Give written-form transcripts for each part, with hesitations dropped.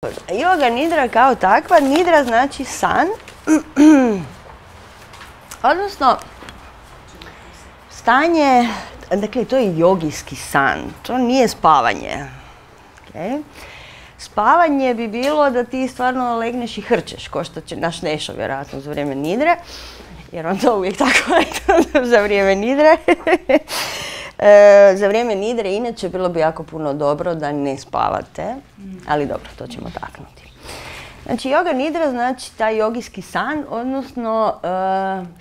Yoga nidra kao takva, nidra znači san, odnosno stanje, dakle to je jogijski san, to nije spavanje. Okay? Spavanje bi bilo da ti stvarno legneš i hrčeš, ko što će naš Nešo vjerojatno za vrijeme nidre, jer on to uvijek tako za vrijeme nidre. Za vrijeme nidre inače bilo bi jako puno dobro da ne spavate, ali dobro, to ćemo taknuti. Znači, yoga nidra znači taj jogijski san, odnosno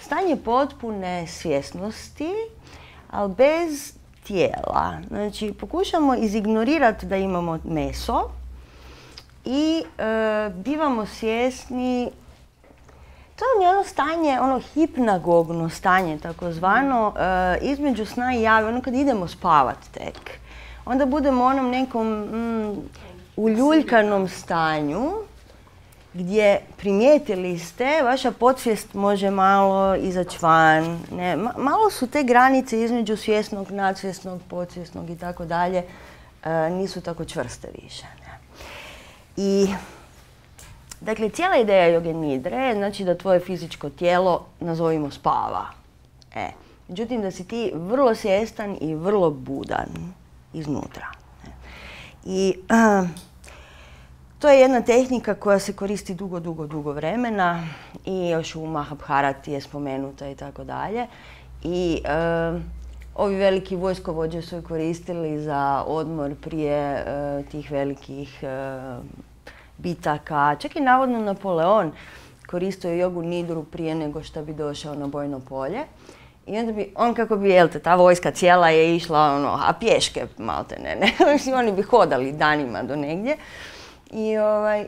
stanje potpune svjesnosti, ali bez tijela. Znači, pokušamo izignorirati da imamo meso i bivamo svjesni. To je ono stanje, ono hipnagogno stanje, takozvano, između sna i jave, ono kad idemo spavat tek. Onda budemo u onom nekom uljuljkanom stanju gdje primijetili ste, vaša podsvijest može malo izaći van. Ne, malo su te granice između svjesnog, nadsvjesnog, podsvjesnog i tako dalje, nisu tako čvrste više. Ne. I dakle, cijela ideja joge nidre je znači da tvoje fizičko tijelo, nazovimo, spava. Međutim, da si ti vrlo svjestan i vrlo budan iznutra. I to je jedna tehnika koja se koristi dugo vremena i još u Mahabharati je spomenuta i tako dalje. I ovi veliki vojskovođe su je koristili za odmor prije tih velikih bitaka. Čak i navodno Napoleon koristio jogu nidru prije nego što bi došao na bojno polje. I onda bi, on kako bi, jel te, ta vojska cijela je išla, a pješke malte ne. Oni bi hodali danima do negdje.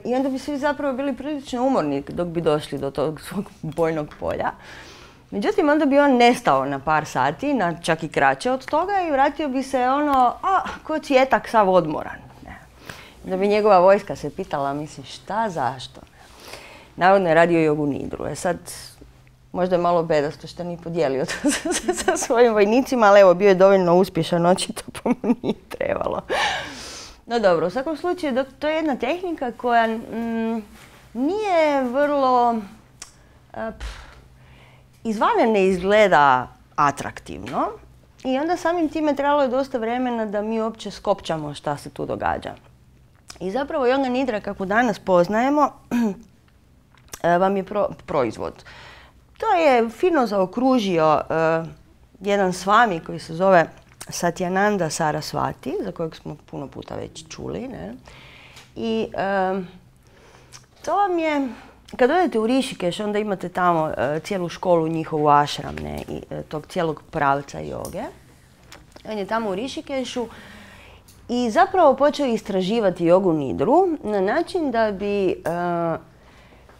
I onda bi svi zapravo bili prilično umorni dok bi došli do tog svog bojnog polja. Međutim, onda bi on nestao na par sati, čak i kraće od toga, i vratio bi se ko cvjetak sav odmoran. Da bi njegova vojska se pitala, mislim, šta, zašto? Navodno je radio jogu nidru. Sad, možda je malo bedasto što nije podijelio to sa svojim vojnicima, ali evo, bio je dovoljno uspješan, očito pa mu nije trebalo. No dobro, u svakom slučaju, to je jedna tehnika koja nije vrlo, izvana ne izgleda atraktivno i onda samim time trebalo je dosta vremena da mi uopće skopčamo šta se tu događa. I zapravo yoga nidra, kako danas poznajemo, vam je proizvod. To je fino zaokružio jedan swami koji se zove Satyananda Sarasvati, za kojeg smo puno puta već čuli. Ne? I to vam je, kad odete u Rišikeš, onda imate tamo cijelu školu, njihovu ashram, ne? I tog cijelog pravca joge. On je tamo u Rišikešu i zapravo počeo istraživati jogu nidru na način da bi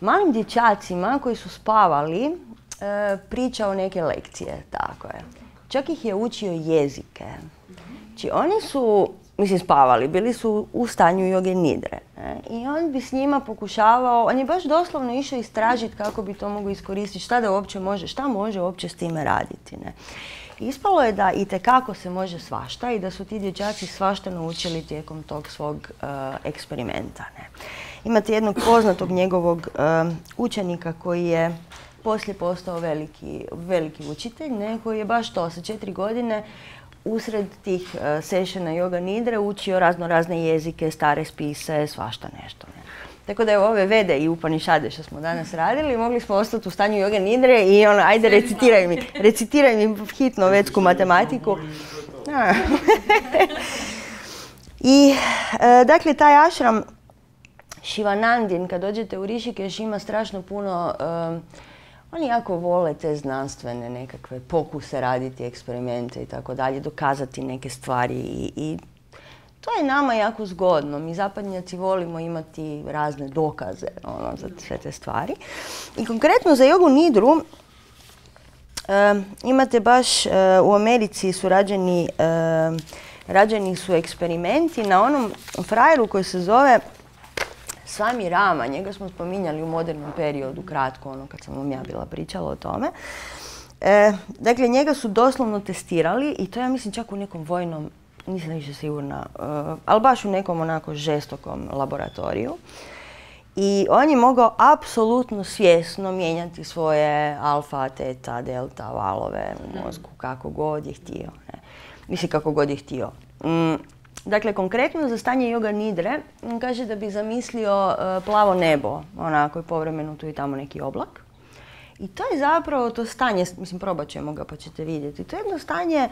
malim dječacima koji su spavali pričao neke lekcije, tako je. Čak ih je učio jezike. Znači oni su, mislim, spavali, bili su u stanju joge nidre. I on bi s njima pokušavao, on je baš doslovno išao istražiti kako bi to mogao iskoristiti, šta može uopće s time raditi. Ne? Ispalo je da itekako se može svašta i da su ti dječaci svašta naučili tijekom tog svog eksperimenta. Ne? Imate jednog poznatog njegovog učenika koji je poslije postao veliki učitelj, ne? Koji je baš to sa 4 godine usred tih sessiona yoga nidre učio razne jezike, stare spise, svašta nešto. Ne? Tako da je ove Vede i Upanišade što smo danas radili, mogli smo ostati u stanju joge nidre i ajde recitiraj mi hitno vedsku matematiku. I dakle, taj ashram Shivanandin, kad dođete u Rišikeš, ima strašno puno, oni jako vole te znanstvene nekakve pokuse raditi, eksperimente i tako dalje, dokazati neke stvari i to je nama jako zgodno. Mi zapadnjaci volimo imati razne dokaze za sve te stvari. I konkretno za jogu nidru imate baš u Americi su rađeni su eksperimenti na onom frajeru koji se zove Swami Rama. Njega smo spominjali u modernom periodu, kratko, kad sam vam ja bila pričala o tome. Dakle, njega su doslovno testirali i to ja mislim čak u nekom vojnom nisam više sigurna, ali baš u nekom onako žestokom laboratoriju. I on je mogao apsolutno svjesno mijenjati svoje alfa, teta, delta valove u mozgu kako god je htio. Ne? Mislim kako god je htio. Dakle, konkretno za stanje yoga nidre, on kaže da bi zamislio plavo nebo, onako i povremeno tu i tamo neki oblak. I to je zapravo to stanje, mislim probat ćemo ga pa ćete vidjeti, to je jedno stanje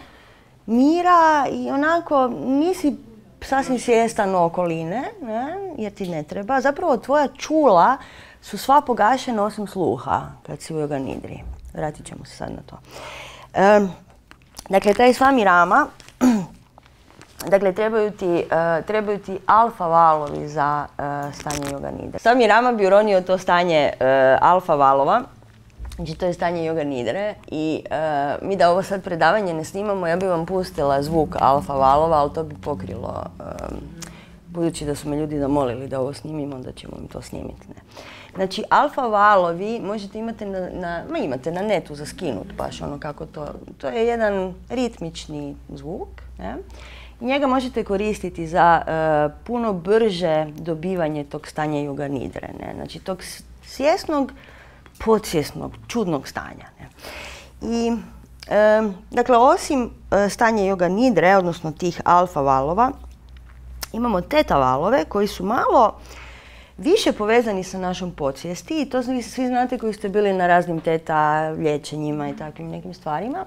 mira i onako nisi sasvim svjestan okoline, ne, jer ti ne treba. Zapravo tvoja čula su sva pogašena osim sluha kad si u yoga nidri. Vratit ćemo se sad na to. Dakle, taj svami rama, dakle, trebaju ti alfa valovi za stanje yoga nidre. Svami rama bi uronio to stanje alfa valova. Znači, to je stanje yoga nidre i mi da ovo sad predavanje ne snimamo, ja bi vam pustila zvuk alfa valova, ali to bi pokrilo, budući da su me ljudi zamolili da ovo snimimo, onda ćemo im to snimiti. Ne? Znači, alfa valovi možete imate na netu za skinut, baš ono kako to je jedan ritmični zvuk. Ne? I njega možete koristiti za puno brže dobivanje tog stanja yoga nidre. Ne? Znači, tog svjesnog, podsvjesnog, čudnog stanja. Ne? I, dakle, osim stanja yoga nidre, odnosno tih alfa valova, imamo teta valove koji su malo više povezani sa našom podsvijesti i to svi znate koji ste bili na raznim teta liječenjima i takvim nekim stvarima.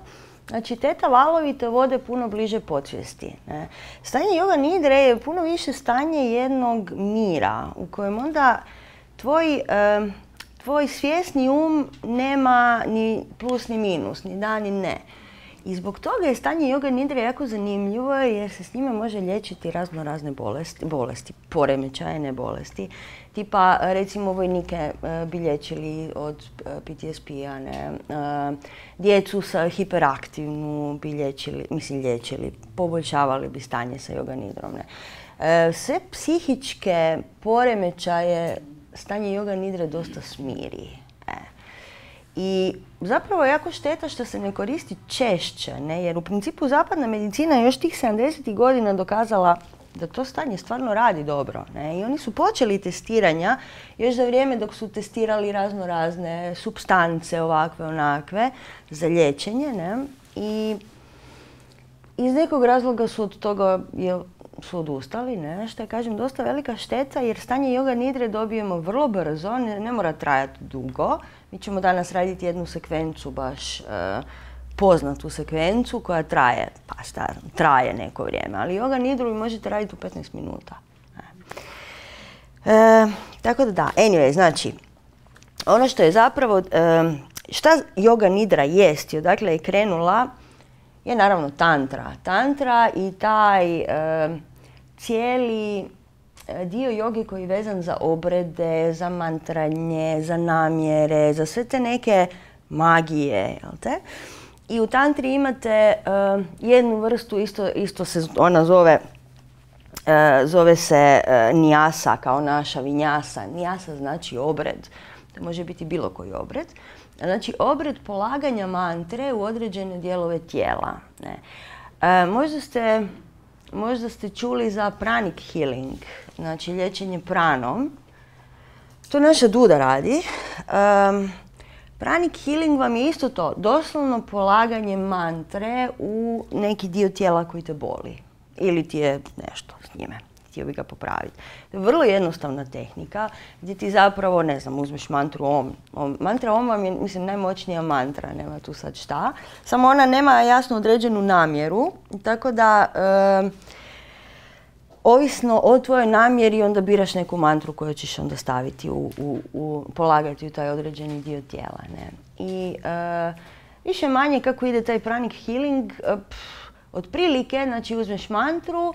Znači, teta valovi te vode puno bliže podsvijesti. Ne? Stanje yoga nidre je puno više stanje jednog mira u kojem onda tvoj svjesni nema ni plus ni minus, ni da ni ne. I zbog toga je stanje yoga nidre jako zanimljivo jer se s njime može liječiti razne bolesti, poremećajne bolesti. Tipa, recimo, vojnike bi liječili od PTSP-a, djecu sa hiperaktivnu bi liječili, poboljšavali bi stanje sa yoga nidrom. Ne. Sve psihičke poremećaje stanje yoga nidre dosta smiri. I zapravo je jako šteta što se ne koristi češće, ne? Jer u principu zapadna medicina je još tih 70. godina dokazala da to stanje stvarno radi dobro. Ne? I oni su počeli testiranja još za vrijeme dok su testirali razne supstance ovakve, onakve za liječenje. Ne? I iz nekog razloga su od toga su odustali, ne? Što je, kažem, dosta velika šteta jer stanje yoga nidre dobijemo vrlo brzo, ne mora trajati dugo. Mi ćemo danas raditi jednu sekvencu, baš poznatu sekvencu koja traje neko vrijeme, ali yoga nidru možete raditi u 15 minuta. Tako da, anyway, znači, ono što je zapravo, šta yoga nidra jest, odakle je krenula, je naravno tantra. Tantra i taj cijeli dio joge koji je vezan za obrede, za mantranje, za namjere, za sve te neke magije, jel te? I u tantri imate jednu vrstu, isto se ona zove se nijasa, kao naša vinjasa. Nijasa znači obred. To može biti bilo koji obred. Znači, obred polaganja mantre u određene dijelove tijela. Ne. Možda ste čuli za pranic healing, znači liječenje pranom. To naša Duda radi. Pranic healing vam je isto to, doslovno polaganje mantre u neki dio tijela koji te boli. Ili ti je nešto s njime, htio bi ga popraviti. To je vrlo jednostavna tehnika gdje ti zapravo, ne znam, uzmeš mantru Om. Mantra Om vam je, mislim, najmoćnija mantra, nema tu sad šta. Samo ona nema jasno određenu namjeru, tako da ovisno o tvojoj namjeri onda biraš neku mantru koju ćeš onda staviti polagati u taj određeni dio tijela. Ne? I više manje kako ide taj pranic healing, otprilike, znači uzmeš mantru,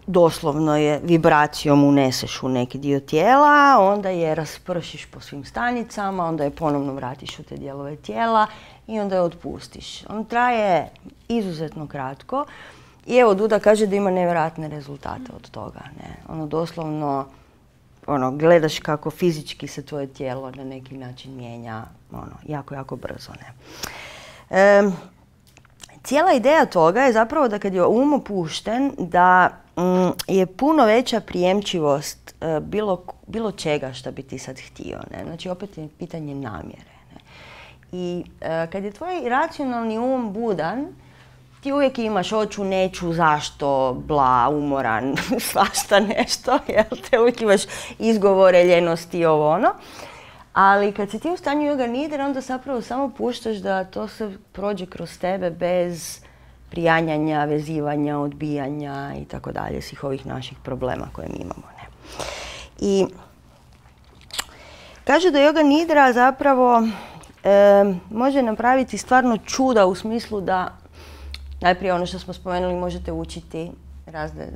doslovno je vibracijom uneseš u neki dio tijela, onda je raspršiš po svim stanicama, onda je ponovno vratiš u te dijelove tijela i onda je otpustiš. On traje izuzetno kratko i evo Duda kaže da ima nevjerojatne rezultate od toga. Ne? Ono doslovno gledaš kako fizički se tvoje tijelo na neki način mijenja jako, jako brzo. Ne? cijela ideja toga je zapravo da kad je opušten, da je puno veća prijemčivost bilo čega što bi ti sad htio. Ne? Znači, opet je pitanje namjere. Ne? I kad je tvoj racionalni budan, ti uvijek imaš hoću, neću, zašto, bla, umoran, svašta nešto, jel te, uvijek imaš izgovore, ljenosti, ovo ono. Ali kad si ti u stanju yoga nidre, onda zapravo samo puštaš da to se prođe kroz tebe bez prijanjanja, vezivanja, odbijanja i tako dalje, svih ovih naših problema koje mi imamo. Ne? I kažu da yoga nidra zapravo može napraviti stvarno čuda u smislu da najprije ono što smo spomenuli, možete učiti razne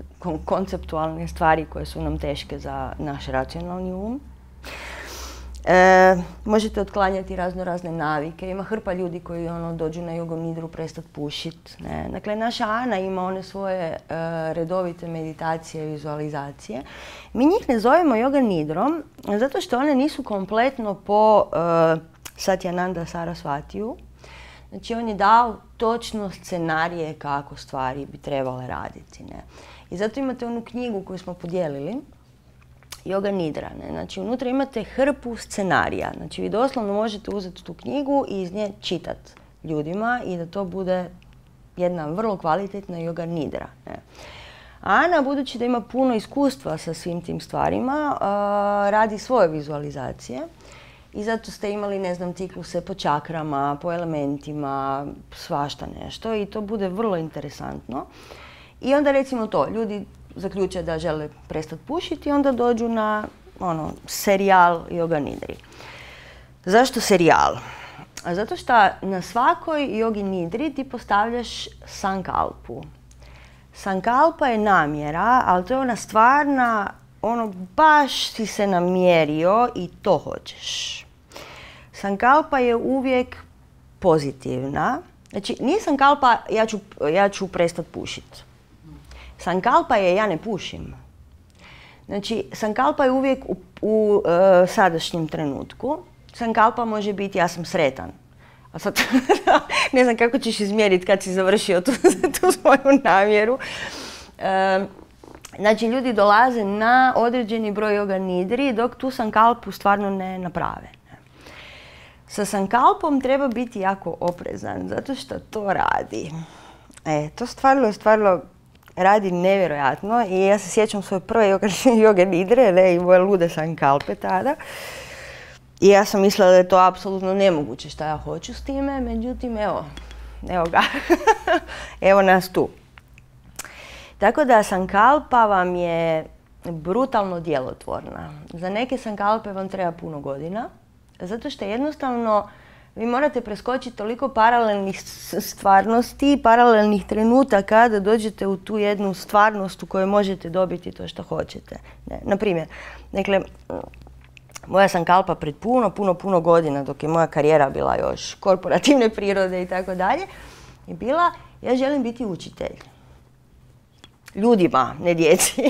konceptualne stvari koje su nam teške za naš racionalni možete otklanjati razne navike. Ima hrpa ljudi koji dođu na yoga nidru prestati pušit. Ne? Dakle, naša Ana ima one svoje redovite meditacije, vizualizacije. Mi njih ne zovemo yoga nidrom zato što one nisu kompletno po Satyananda Sarasvatiju. Znači, on je dao točno scenarije kako stvari bi trebale raditi. Ne? I zato imate onu knjigu koju smo podijelili, Yoga Nidra. Ne? Znači, unutra imate hrpu scenarija. Znači, vi doslovno možete uzeti tu knjigu i iz nje čitati ljudima i da to bude jedna vrlo kvalitetna Yoga Nidra. Ne? Ana, budući da ima puno iskustva sa svim tim stvarima, radi svoje vizualizacije. I zato ste imali, ne znam, cikluse po čakrama, po elementima, svašta nešto i to bude vrlo interesantno. I onda recimo to, ljudi zaključe da žele prestati pušiti i onda dođu na serijal Yoga Nidri. Zašto serijal? Zato što na svakoj Yogi Nidri ti postavljaš sankalpu. Sankalpa je namjera, ali to je ona stvarna, baš si se namjerio i to hoćeš. Sankalpa je uvijek pozitivna. Znači, nije sankalpa ja ću prestati pušiti. Sankalpa je ja ne pušim. Znači, sankalpa je uvijek u sadašnjem trenutku. Sankalpa može biti ja sam sretan. A sad ne znam kako ćeš izmjeriti kad si završio tu svoju namjeru. Znači, ljudi dolaze na određeni broj yoga nidri dok tu sankalpu stvarno ne naprave. Sa sankalpom treba biti jako oprezan zato što to radi. To stvarno radi nevjerojatno i ja se sjećam svoje prve yoga nidre i moje lude sankalpe tada. I ja sam mislila da je to apsolutno nemoguće šta ja hoću s time, međutim evo ga, evo nas tu. Tako da sankalpa vam je brutalno djelotvorna. Za neke sankalpe vam treba puno godina, zato što jednostavno vi morate preskočiti toliko paralelnih stvarnosti, paralelnih trenutaka da dođete u tu jednu stvarnost u kojoj možete dobiti to što hoćete. Naprimjer, moja sankalpa pred puno godina, dok je moja karijera bila još korporativne prirode i tako dalje, je bila ja želim biti učitelj. Ljudima, ne djeci.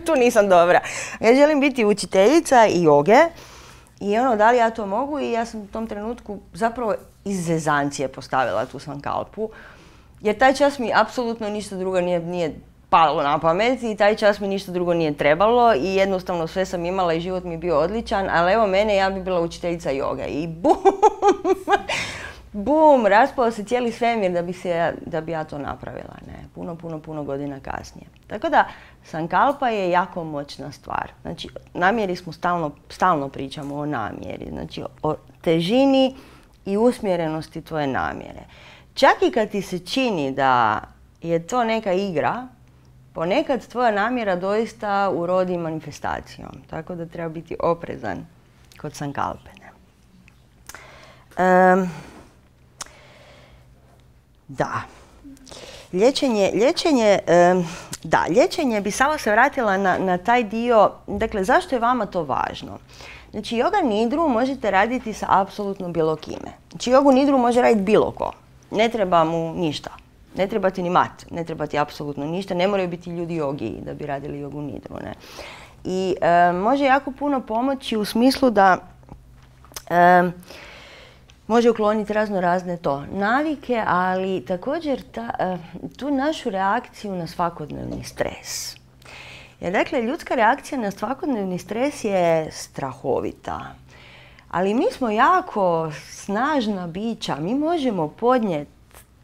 tu nisam dobra. Ja želim biti učiteljica i joge i da li ja to mogu i ja sam u tom trenutku zapravo iz zezancije postavila tu sankalpu. Jer taj čas mi apsolutno ništa drugo nije palo na pamet i taj čas mi ništa drugo nije trebalo i jednostavno sve sam imala i život mi je bio odličan, ali evo mene, ja bi bila učiteljica joge i bum! Bum, raspao se cijeli svemir da bi ja to napravila. Ne? Puno godina kasnije. Tako da, sankalpa je jako moćna stvar. Znači, namjeri smo stalno pričamo o namjeri. Znači, o težini i usmjerenosti tvoje namjere. Čak i kad ti se čini da je to neka igra, ponekad tvoja namjera doista urodi manifestacijom. Tako da treba biti oprezan kod sankalpe. Da. Liječenje bi samo se vratila na taj dio, dakle, zašto je vama to važno? Znači, yoga nidru možete raditi sa apsolutno bilo kime. Znači, yoga nidru može raditi bilo ko. Ne treba mu ništa. Ne treba ti ni mat, ne treba ti apsolutno ništa. Ne moraju biti ljudi jogi da bi radili yoga nidru. Ne? I može jako puno pomoći u smislu da može ukloniti razne navike, ali također tu našu reakciju na svakodnevni stres. Jer dakle, ljudska reakcija na svakodnevni stres je strahovita. Ali mi smo jako snažna bića, mi možemo podnijeti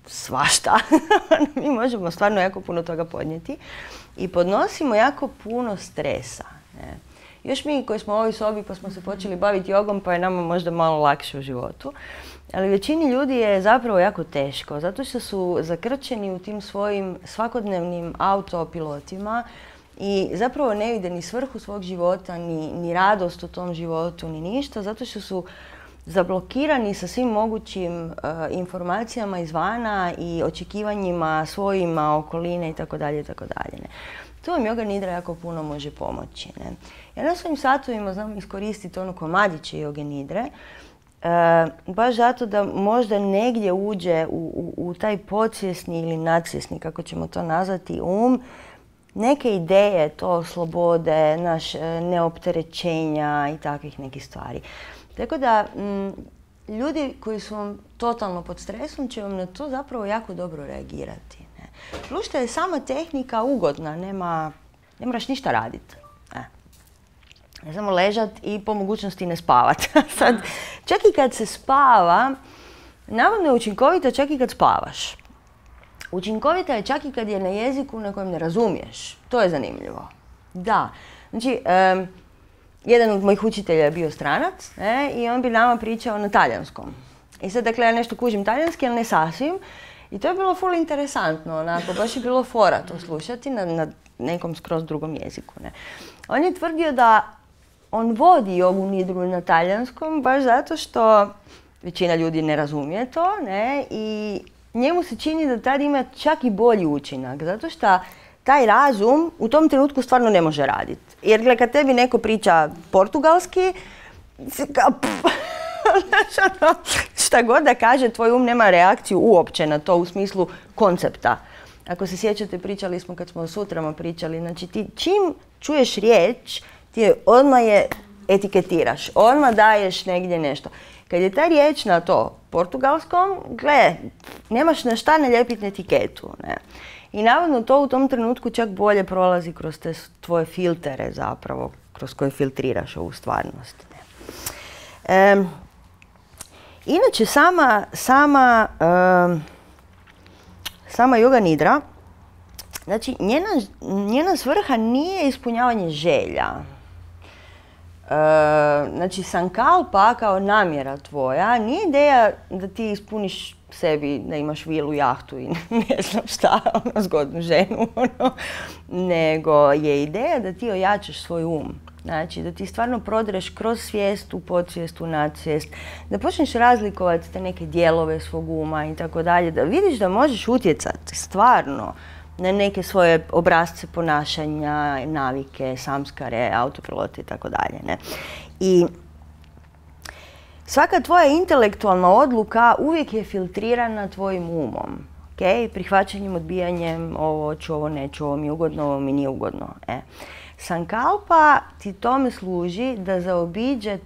svašta. Mi možemo stvarno jako puno toga podnijeti i podnosimo jako puno stresa. Ne? Još mi koji smo u ovoj sobi pa smo se počeli baviti jogom pa je nama možda malo lakše u životu. Ali većini ljudi je zapravo jako teško, zato što su zakrčeni u tim svojim svakodnevnim autopilotima i zapravo ne vide ni svrhu svog života, ni radost u tom životu, ni ništa, zato što su zablokirani sa svim mogućim informacijama izvana i očekivanjima svojima, okoline itd. Tu vam Yoga Nidra jako puno može pomoći. Ne? Ja na svojim satovima znam iskoristiti komadiće Yoga Nidre, baš zato da možda negdje uđe u taj podsvjesni ili nadsvjesni, kako ćemo to nazvati, neke ideje, to slobode, neopterećenja i takvih nekih stvari. Tako da, ljudi koji su vam totalno pod stresom će vam na to zapravo jako dobro reagirati. Ne? Plus što je sama tehnika ugodna, ne moraš ništa raditi. Ne samo ležat i po mogućnosti ne spavat. Sad, čak i kad se spava, navodno je učinkovita čak i kad spavaš. Učinkovita je čak i kad je na jeziku na kojem ne razumiješ. To je zanimljivo. Da. Znači, jedan od mojih učitelja je bio stranac i on bi nama pričao na talijanskom. I sad, dakle, ja nešto kužim talijanski, ali ne sasvim. I to je bilo ful interesantno, onako, baš je bilo fora to slušati na nekom skroz drugom jeziku. Ne. On je tvrdio da on vodi Yogu Nidru na talijanskom baš zato što većina ljudi ne razumije to, ne, i njemu se čini da tad ima čak i bolji učinak, zato što taj razum u tom trenutku stvarno ne može raditi. Jer kad tebi neko priča portugalski, šta god da kaže, tvoj nema reakciju uopće na to u smislu koncepta. Ako se sjećate, pričali smo kad smo o sutrama pričali, znači ti čim čuješ riječ, ti je odmah je etiketiraš, odmah daješ negdje nešto. Kad je ta riječ na to portugalskom, gle, nemaš na šta nalijepiti etiketu. Ne? I navodno to u tom trenutku čak bolje prolazi kroz te tvoje filtere zapravo, kroz koje filtriraš ovu stvarnost. Ne? Inače, sama Yoga Nidra, znači njena svrha nije ispunjavanje želja. Znači, sankalpa kao namjera tvoja nije ideja da ti ispuniš sebi, da imaš vilu, jahtu i ne znam šta, zgodnu ženu, nego je ideja da ti ojačaš svoj Znači, da ti stvarno prodreš kroz svijest, u podsvijest, u nadsvijest, da počneš razlikovati te neke dijelove svog uma i tako dalje, da vidiš da možeš utjecati stvarno na neke svoje obrasce ponašanja, navike, samskare, autopilote i tako dalje. I svaka tvoja intelektualna odluka uvijek je filtrirana tvojim umom. Okay? Prihvaćanjem, odbijanjem, ovo ću, ovo neću, ovo mi je ugodno, ovo mi nije ugodno. Sankalpa ti tome služi da zaobiđe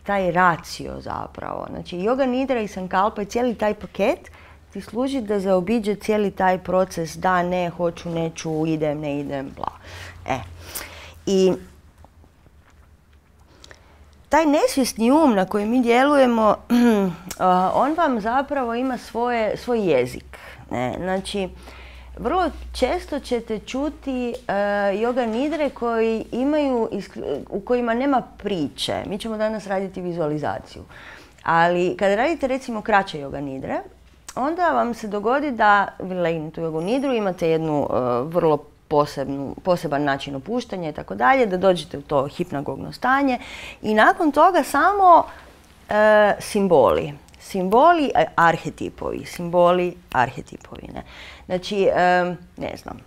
taj racio zapravo. Znači, Yoga Nidra i sankalpa i cijeli taj paket ti služi da zaobiđe cijeli taj proces da, ne, hoću, neću, idem, ne idem, bla. I taj nesvjesni na koji mi djelujemo, on vam zapravo ima svoj jezik. Ne? Znači, vrlo često ćete čuti Yoga Nidre u kojima nema priče. Mi ćemo danas raditi vizualizaciju. Ali kada radite recimo kraće Yoga Nidre, onda vam se dogodi da vi legnete u Yoga Nidru, imate jednu vrlo poseban način opuštanja i tako dalje, da dođete u to hipnagogno stanje i nakon toga samo simboli, arhetipovi. Ne? Znači, ne znam,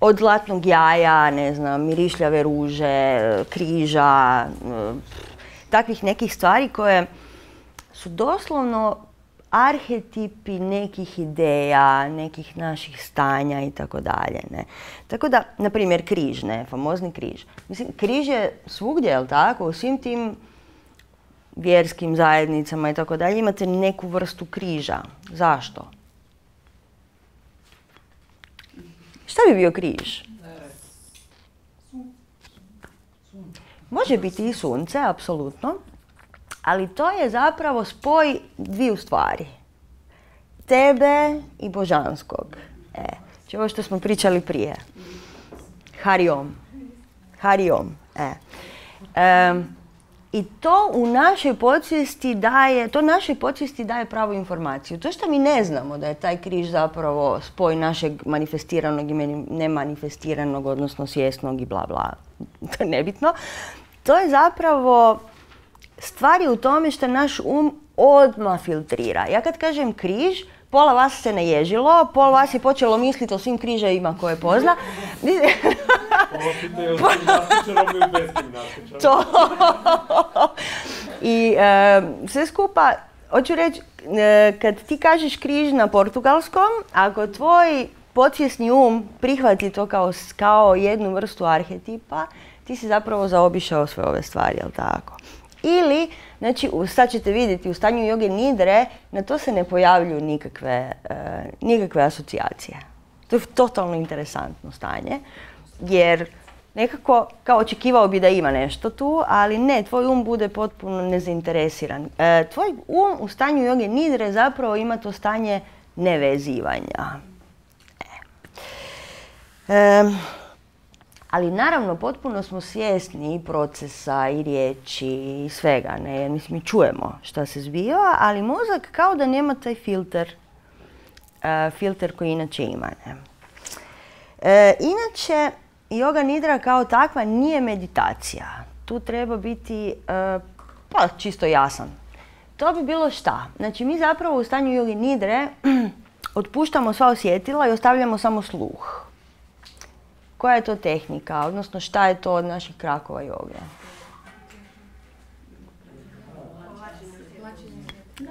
od zlatnog jaja, ne znam, mirišljave ruže, križa, takvih nekih stvari koje su doslovno arhetipi nekih ideja, nekih naših stanja i tako dalje. Tako da, na primjer, križ, famozni križ. Mislim, križ je svugdje, jel tako? U svim tim vjerskim zajednicama i tako dalje imate neku vrstu križa. Zašto? Šta bi bio križ? Može biti i sunce, apsolutno, ali to je zapravo spoj dviju stvari. Tebe i božanskog. Znači ovo što smo pričali prije. Hariom. Hariom. I to u našoj podsvijesti daje pravu informaciju. To što mi ne znamo da je taj križ zapravo spoj našeg manifestiranog i nemanifestiranog, odnosno svjesnog i bla bla, to je nebitno. To je zapravo stvari u tome što naš odmah filtrira. Ja kad kažem križ, pola vas se naježilo, pola vas je počelo misliti o svim križevima koje pozna. To. I sve skupa, hoću reći, kad ti kažeš križ na portugalskom, ako tvoj podsvjesni prihvati to kao jednu vrstu arhetipa, ti si zapravo zaobišao sve ove stvari, jel tako? Ili, znači, sad ćete vidjeti, u stanju joge nidre, na to se ne pojavljuju nikakve asocijacije. To je totalno interesantno stanje, jer nekako, kao očekivao bi da ima nešto tu, ali ne, tvoj bude potpuno nezainteresiran. Tvoj u stanju joge nidre zapravo ima to stanje nevezivanja. Ali naravno, potpuno smo svjesni i procesa i riječi i svega, ne? Jer mi čujemo šta se zbiva, ali mozak kao da nema taj filter koji inače ima. Ne? Inače, joga nidra kao takva nije meditacija. Tu treba biti čisto jasan. To bi bilo šta? Znači, mi zapravo u stanju joge nidre otpuštamo sva osjetila i ostavljamo samo sluh. Koja je to tehnika, odnosno šta je to od naših krakova joge?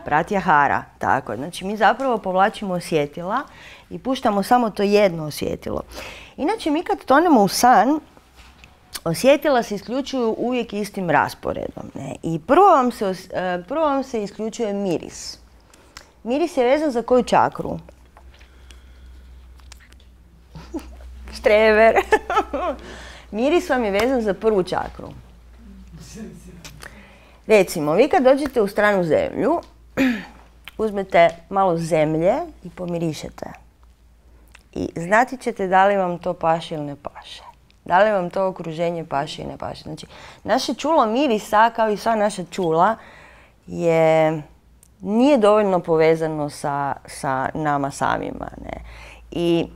Pratyahara, tako. Znači mi zapravo povlačimo osjetila i puštamo samo to jedno osjetilo. Inače mi kad tonemo u san, osjetila se isključuju uvijek istim rasporedom. Ne? I prvo vam se isključuje miris. Miris je vezan za koju čakru? Štrever. Miris vam je vezan za prvu čakru. Recimo, vi kad dođete u stranu zemlju, uzmete malo zemlje i pomirišete. I znati ćete da li vam to paše ili ne paše. Da li vam to okruženje paše ili ne paše. Znači, naše čulo mirisa, kao i sva naša čula, nije dovoljno povezano sa nama samima. Ne? I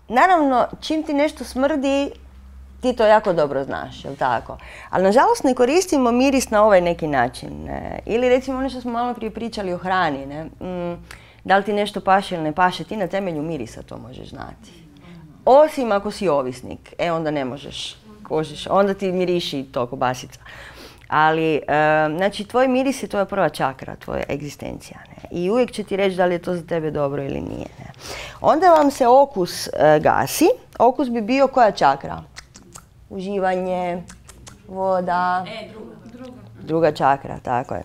naravno, čim ti nešto smrdi, ti to jako dobro znaš, jel tako? Ali nažalost ne koristimo miris na ovaj neki način. Ne? Ili recimo ono što smo malo prije pričali o hrani. Ne? Da li ti nešto paše ili ne paše, ti na temelju mirisa to možeš znati. Osim ako si ovisnik, onda ne možeš, onda ti miriši to kobasica. Ali, znači, tvoj miris je tvoja prva čakra, tvoja egzistencija. Ne? I uvijek će ti reći da li je to za tebe dobro ili nije. Ne? Onda vam se okus gasi. Okus bi bio koja čakra? Uživanje, voda. Druga čakra, tako je.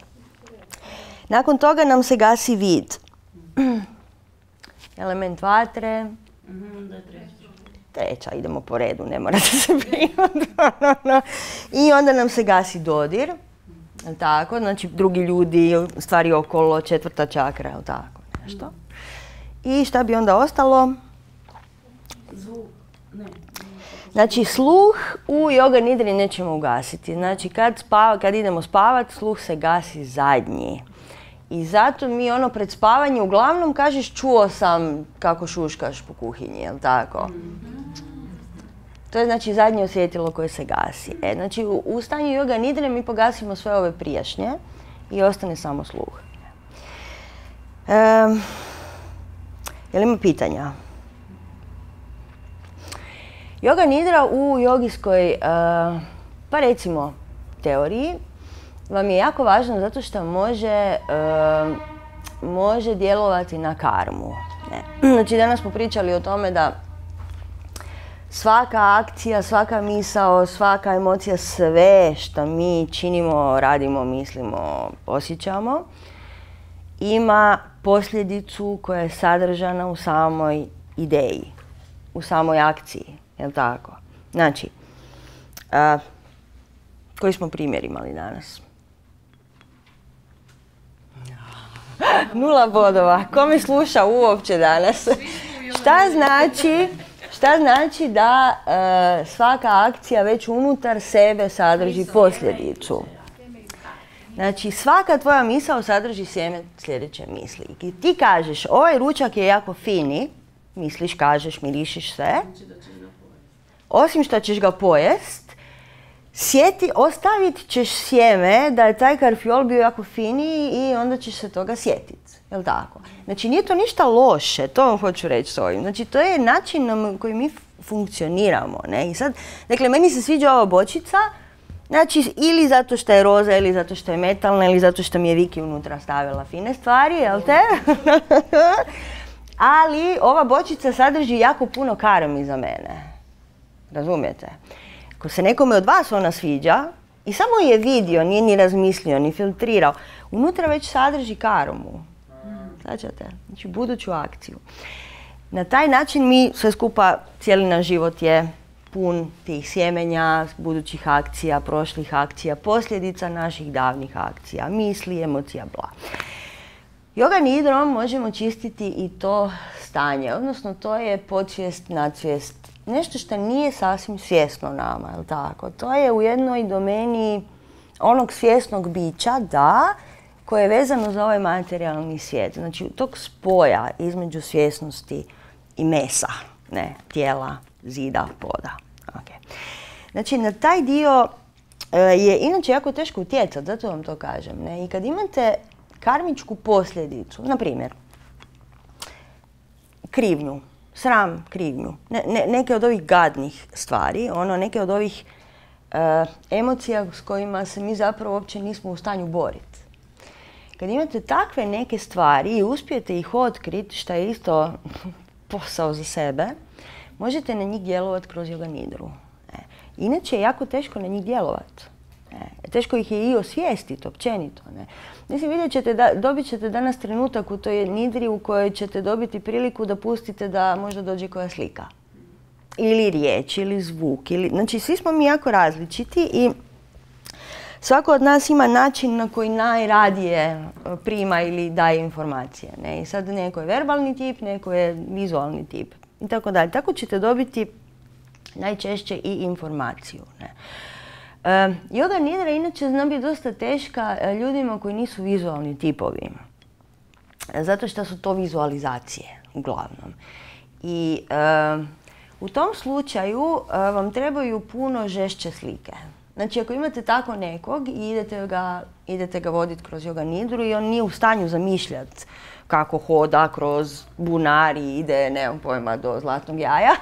Nakon toga nam se gasi vid. Element vatre. Treća, idemo po redu, ne morate se brinuti. I onda nam se gasi dodir. Tako, znači drugi ljudi, stvari okolo, četvrta čakra, jel tako, nešto. I šta bi onda ostalo? Znači, sluh u joga nidri nećemo ugasiti. Znači, kad idemo spavat, sluh se gasi zadnji. I zato mi pred spavanje uglavnom kažeš čuo sam kako šuškaš po kuhinji, jel tako? To je znači zadnje osjetilo koje se gasi. Znači u stanju joga nidre mi pogasimo sve ove prijašnje i ostane samo sluh. Jel ima pitanja? Joga nidra u jogijskoj, pa recimo, teoriji vam je jako važno zato što može djelovati na karmu. Ne. Znači danas smo pričali o tome da svaka akcija, svaka misao, svaka emocija, sve što mi činimo, radimo, mislimo, osjećamo, ima posljedicu koja je sadržana u samoj ideji, u samoj akciji, jel' tako? Znači, koji smo primjer imali danas? 0 bodova. Ko me sluša uopće danas? Šta znači da svaka akcija već unutar sebe sadrži posljedicu? Znači, svaka tvoja misao sadrži sjeme sljedeće misli. I ti kažeš, ovaj ručak je jako fini, misliš, kažeš, mirišiš sve, osim što ćeš ga pojest, ostavit ćeš sjeme da je taj karfiol bio jako fini i onda ćeš se toga sjetiti. Jel' tako? Znači, nije to ništa loše, to vam hoću reći s ovim. Znači, to je način na koji mi funkcioniramo. Ne? I sad, dakle, meni se sviđa ova bočica, znači, ili zato što je roza, ili zato što je metalna, ili zato što mi je Viki unutra stavila fine stvari, jel' te? Ali ova bočica sadrži jako puno karmi za mene. Razumijete? Ako se nekome od vas ona sviđa i samo je vidio, nije ni razmislio, ni filtrirao, unutra već sadrži karmu. Značite? Znači, buduću akciju. Na taj način mi sve skupa, cijeli naš život je pun tih sjemenja, budućih akcija, prošlih akcija, posljedica naših davnih akcija, misli, emocija, bla. Yoga nidrom možemo čistiti i to stanje, odnosno to je podsvijest, nadsvijest, nešto što nije sasvim svjesno nama, jel' tako? To je u jednoj domeni onog svjesnog bića, da, koje je vezano za ovaj materijalni svijet. Znači, tog spoja između svjesnosti i mesa, ne, tijela, zida, poda. Okay. Znači, na taj dio je inače jako teško utjecati, zato vam to kažem. Ne? I kad imate karmičku posljedicu, na primjer, krivnju, sram, krivnju, neke od ovih gadnih stvari, neke od ovih emocija s kojima se mi zapravo uopće nismo u stanju boriti. Kad imate takve neke stvari i uspijete ih otkriti, što je isto posao za sebe, možete na njih djelovati kroz yoga nidru. Inače je jako teško na njih djelovati. Teško ih je i osvijestiti općenito. Mislim, dobit ćete danas trenutak u toj nidri u kojoj ćete dobiti priliku da pustite da možda dođe koja slika. Ili riječ, ili zvuk. Znači, svi smo mi jako različiti i svako od nas ima način na koji najradije prima ili daje informacije. Ne? I sad neko je verbalni tip, neko je vizualni tip i tako dalje. Tako ćete dobiti najčešće i informaciju. Ne? Yoga nidra inače zna biti dosta teška ljudima koji nisu vizualni tipovi. Zato što su to vizualizacije, uglavnom. I u tom slučaju vam trebaju puno žešće slike. Znači, ako imate tako nekog i idete ga voditi kroz yoga nidru i on nije u stanju zamišljati kako hoda kroz bunar i ide, nemam pojma, do zlatnog jaja.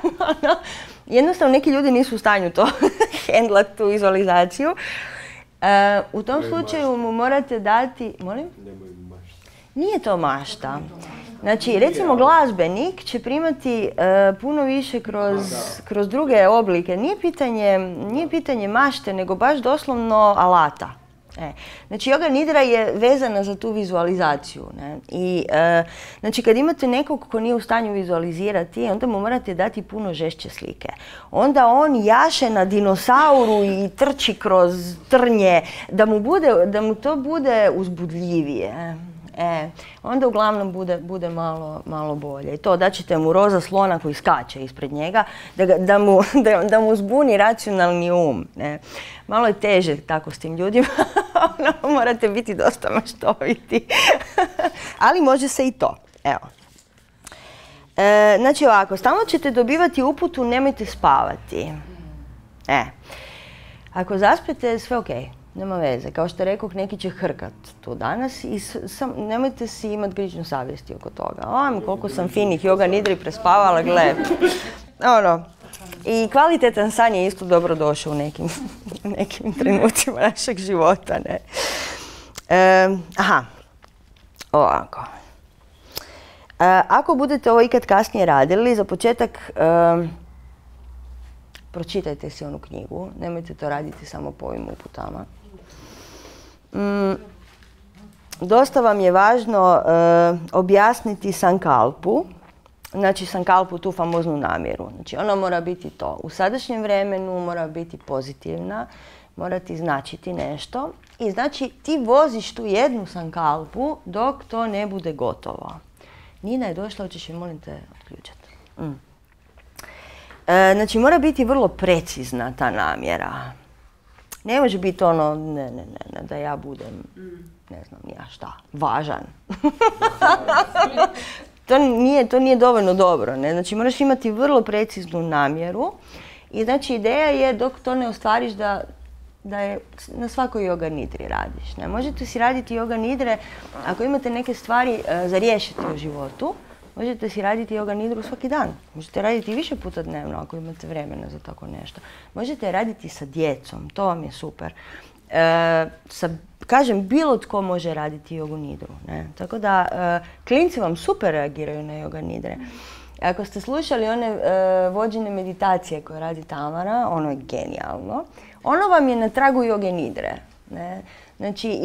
Jednostavno, neki ljudi nisu u stanju to hendlati, tu vizualizaciju. U tom slučaju mu morate dati... Molim? Nije to mašta. Znači, recimo glazbenik će primati puno više kroz druge oblike. Nije pitanje mašte, nego baš doslovno alata. Znači, yoga nidra je vezana za tu vizualizaciju. Ne? I, znači, kad imate nekog ko nije u stanju vizualizirati, onda mu morate dati puno žešće slike. Onda on jaše na dinosauru i trči kroz trnje, da mu to bude uzbudljivije. Onda uglavnom bude malo bolje. I to da ćete mu roza slona koji skače ispred njega, da mu zbuni racionalni um. Ne. Malo je teže tako s tim ljudima, morate biti dosta maštoviti. Ali može se i to. Evo. Znači ovako, stalno ćete dobivati uputu nemojte spavati. Ako zaspete, sve ok. Nema veze. Kao što rekoh, neki će hrkat tu danas i nemojte si imati grižnju savjesti oko toga. Koliko sam finih yoga nidri prespavala, gle. I kvalitetan san je isto dobro došao u nekim trenucima našeg života. Ne? Ovako. Ako budete ovo ikad kasnije radili, za početak pročitajte si onu knjigu, nemojte to raditi samo po ovim uputama. Dosta vam je važno objasniti sankalpu, znači sankalpu, tu famoznu namjeru. Znači ona mora biti to. U sadašnjem vremenu mora biti pozitivna, mora ti značiti nešto i znači ti voziš tu jednu sankalpu dok to ne bude gotovo. Nina je došla, hoćeš je molim te otključati. Znači mora biti vrlo precizna ta namjera. Ne može biti ono, ne, da ja budem, ne znam ja šta, važan. To nije dovoljno dobro, ne? Znači moraš imati vrlo preciznu namjeru i znači ideja je dok to ne ostvariš da je na svakoj yoga nidri radiš. Ne? Možete si raditi yoga nidre ako imate neke stvari za riješiti u životu. Možete si raditi yoga nidru svaki dan. Možete raditi više puta dnevno ako imate vremena za tako nešto. Možete raditi sa djecom, to vam je super. Kažem, bilo tko može raditi yoga nidru. Ne? Tako da, klinci vam super reagiraju na yoga nidre. Ako ste slušali one vođene meditacije koje radi Tamara, ono je genijalno. Ono vam je na tragu yoga nidre. Ne? Znači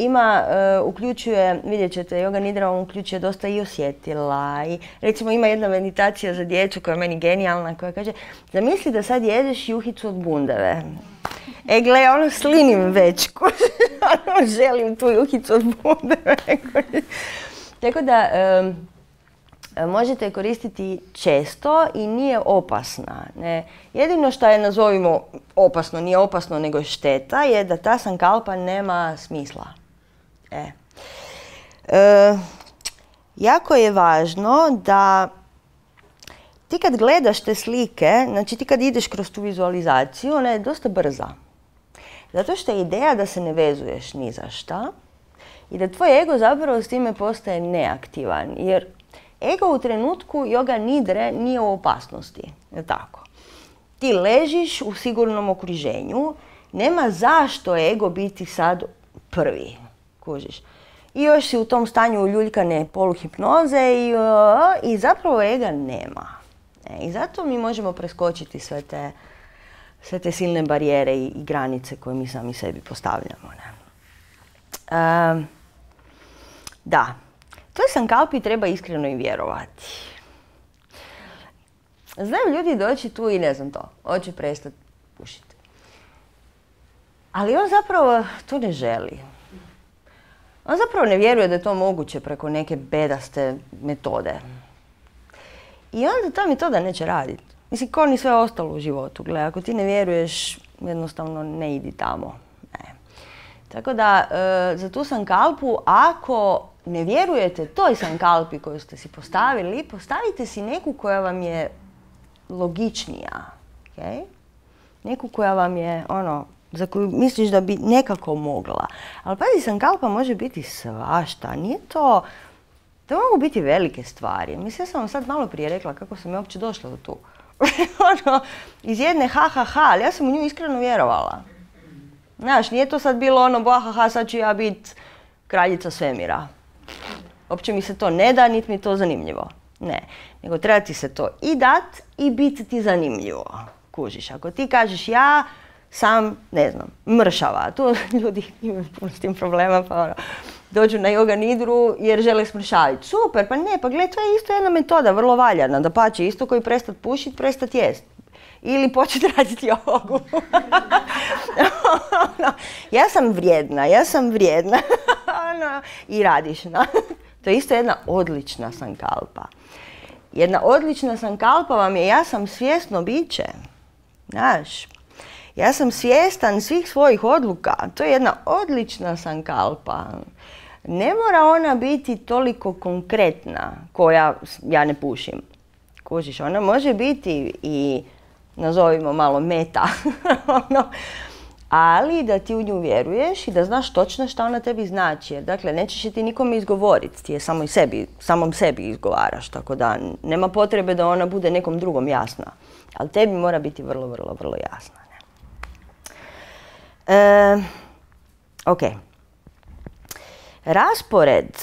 uključuje, vidjet ćete, yoga nidra vam uključuje dosta i osjetila. I, recimo ima jedna meditacija za djecu koja je meni genijalna, koja kaže zamisli da sad jedeš juhicu od bundeve. Gle, ono slinim već, želim tu juhicu od bundeve. Tako da možete koristiti često i nije opasna. Ne? Jedino što je, nazovimo, opasno, nije opasno nego šteta, je da ta sankalpa nema smisla. Jako je važno da ti kad gledaš te slike, znači ti kad ideš kroz tu vizualizaciju, ona je dosta brza. Zato što je ideja da se ne vezuješ ni za šta i da tvoj ego zapravo s time postaje neaktivan. Jer ego u trenutku yoga nidre nije u opasnosti, je tako? Ti ležiš u sigurnom okruženju, nema zašto ego biti sad prvi, kužiš. I još si u tom stanju uljuljkane poluhipnoze i zapravo ega nema. I zato mi možemo preskočiti sve te silne barijere i granice koje mi sami sebi postavljamo. Da. Toj sankalpi treba iskreno i vjerovati. Znaju ljudi doći tu i ne znam to, hoće prestati pušiti. Ali on zapravo to ne želi. On zapravo ne vjeruje da je to moguće preko neke bedaste metode. I onda ta metoda neće raditi. Mislim, kao ni sve ostalo u životu. Gle, ako ti ne vjeruješ, jednostavno ne idi tamo. Ne. Tako da, za tu sankalpu, ako ne vjerujete toj sankalpi koju ste si postavili, postavite si neku koja vam je logičnija. Okay? Neku koja vam je, za koju misliš da bi nekako mogla. Ali pazi, sankalpa može biti svašta. Nije to mogu biti velike stvari. Mislim, ja sam vam sad malo prije rekla kako sam ja uopće došla do tu. Iz jedne ali ja sam u nju iskreno vjerovala. Znaš, nije to sad bilo sad ću ja biti kraljica svemira. Uopće mi se to ne da, niti mi to zanimljivo. Ne, nego treba ti se to i dat i biti ti zanimljivo. Kužiš, ako ti kažeš ja sam, ne znam, mršava. Tu ljudi imaju puno s tim problema, pa dođu na yoga nidru jer žele smršaviti. Super, pa ne, pa gle, to je isto jedna metoda, vrlo valjana. Dapače, isto koji prestat pušiti, prestat jest. Ili početi raditi jogu. Ja sam vrijedna. I radiš. To je isto jedna odlična sankalpa. Jedna odlična sankalpa vam je ja sam svjesno biće. Znaš, ja sam svjestan svih svojih odluka. To je jedna odlična sankalpa. Ne mora ona biti toliko konkretna koja ja ne pušim. Kužiš, ona može biti i nazovimo malo meta. Ali da ti u nju vjeruješ i da znaš točno šta ona tebi znači. Jer, dakle, nećeš je ti nikome izgovoriti, ti je samom sebi izgovaraš. Tako da nema potrebe da ona bude nekom drugom jasna. Ali tebi mora biti vrlo, vrlo, vrlo jasna. Ok. Raspored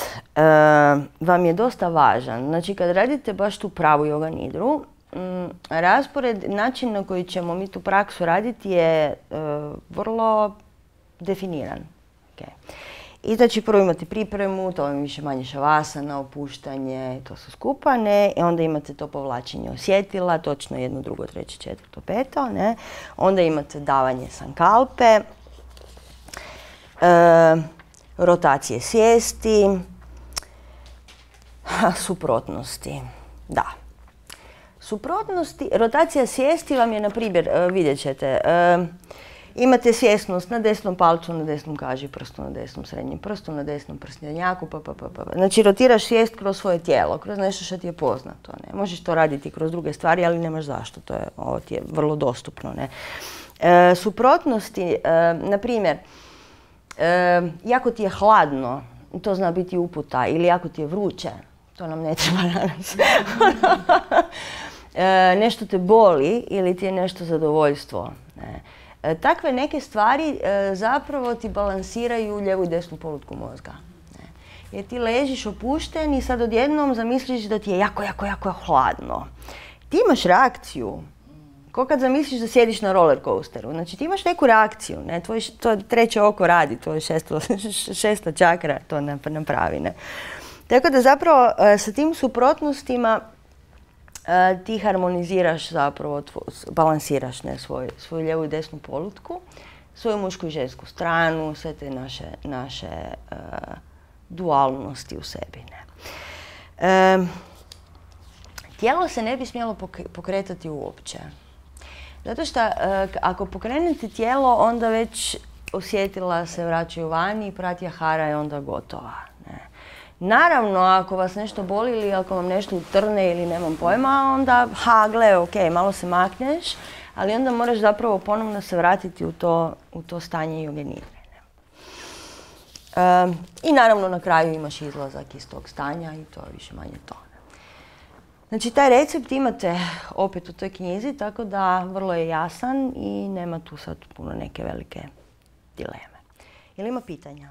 vam je dosta važan. Znači, kad radite baš tu pravu yoga nidru, raspored, način na koji ćemo mi tu praksu raditi je vrlo definiran. Okay. I znači prvo imate pripremu, to vam više manje šavasana, opuštanje, to su skupa, ne? I onda imate to povlačenje osjetila, točno 1, 2, 3, 4, 5, ne? Onda imate davanje sankalpe, rotacije svijesti, suprotnosti, da. Suprotnosti, rotacija svijesti vam je, na primjer, vidjet ćete, imate svjesnost na desnom palcu, na desnom kažiprstu, na desnom srednjem prstu, na desnom prstenjaku, Znači, rotiraš svijest kroz svoje tijelo, kroz nešto što ti je poznato. Ne? Možeš to raditi kroz druge stvari, ali nemaš zašto. Ovo ti je vrlo dostupno. Ne? Suprotnosti, na primjer, jako ti je hladno, to zna biti uputa, ili jako ti je vruće, to nam ne treba danas. Nešto te boli ili ti je nešto zadovoljstvo. Ne? Takve neke stvari zapravo ti balansiraju lijevu i desnu polutku mozga. Ne? Jer ti ležiš opušten i sad odjednom zamisliš da ti je jako, jako, jako hladno. Ti imaš reakciju. Ko kad zamisliš da sjediš na roller coasteru. Znači ti imaš neku reakciju. Ne? To treće oko radi, tvoje šesta čakra to napravi. Ne? Tako da zapravo sa tim suprotnostima ti harmoniziraš zapravo, balansiraš svoju lijevu i desnu polutku, svoju mušku i žensku stranu, sve te naše dualnosti u sebi. Ne? Tijelo se ne bi smjelo pokretati uopće. Zato što ako pokrenete tijelo, onda već osjetila se vraćaju vani i pratyahara je onda gotova. Ne? Naravno, ako vas nešto boli ili ako vam nešto utrne ili nemam pojma, onda, gle, ok, malo se makneš, ali onda moraš zapravo ponovno se vratiti u to stanje joge nidre. I naravno na kraju imaš izlazak iz tog stanja i to je više manje to. Znači, taj recept imate opet u toj knjizi, tako da vrlo je jasan i nema tu sad puno neke velike dileme. Jel ima pitanja?